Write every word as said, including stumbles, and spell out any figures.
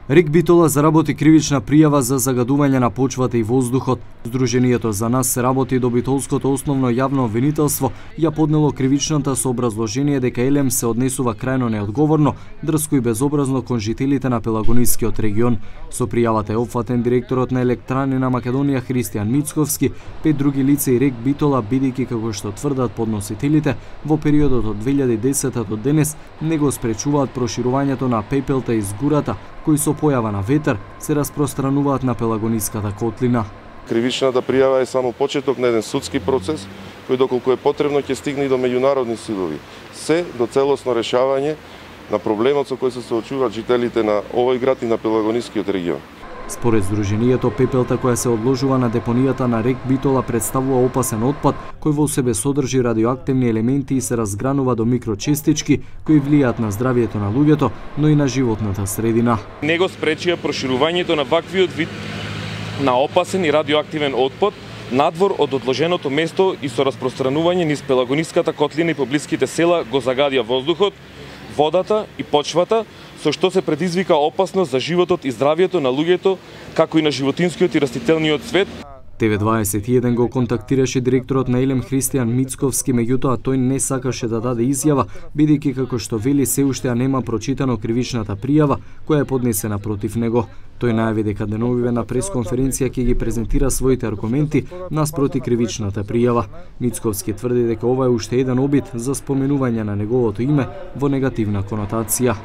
Рек Битола заработи кривична пријава за загадување на почвата и воздухот. Сдруженијето За нас се работи до Битолското основно јавно обвинителство ја поднело кривичната со образложение дека Елем се однесува крајно неодговорно, дрско и безобразно кон жителите на Пелагонискиот регион. Со пријавата е опфатен директорот на Електрани на Македонија Христијан Мицковски, пет други лица и Рек Битола, бидејќи како што тврдат подносителите, во периодот од две илјади и десета до денес не го спречуваат проширувањето на пепелта из гурата, кои со појава на ветер се распространуваат на Пелагониската котлина. Кривичната пријава е само почеток на еден судски процес, кој доколку е потребно ќе стигне и до меѓународни судови. Се до целосно решавање на проблемот со кој се соочуваат жителите на овој град и на Пелагонискиот регион. Според Сдруженијето, пепелта која се одложува на депонијата на Рек Битола представува опасен отпад кој во себе содржи радиоактивни елементи и се разгранува до микрочестички кои влијаат на здравието на луѓето, но и на животната средина. Не го спречија проширувањето на ваквиот вид на опасен и радиоактивен отпад надвор од одложеното место и со распространување низ Пелагониската котлина и поблиските села го загадија воздухот, водата и почвата, со што се предизвика опасност за животот и здравието на луѓето, како и на животинскиот и растителниот свет. Т В дваесет и еден го контактираше директорот на Елем Христијан Мицковски, меѓутоа тој не сакаше да даде изјава, бидејќи како што вели се уште нема прочитано кривичната пријава која е поднесена против него. Тој најави дека деновиве на пресконференција ќе ги презентира своите аргументи наспроти кривичната пријава. Мицковски тврди дека ова е уште еден обид за споменување на неговото име во негативна конотација.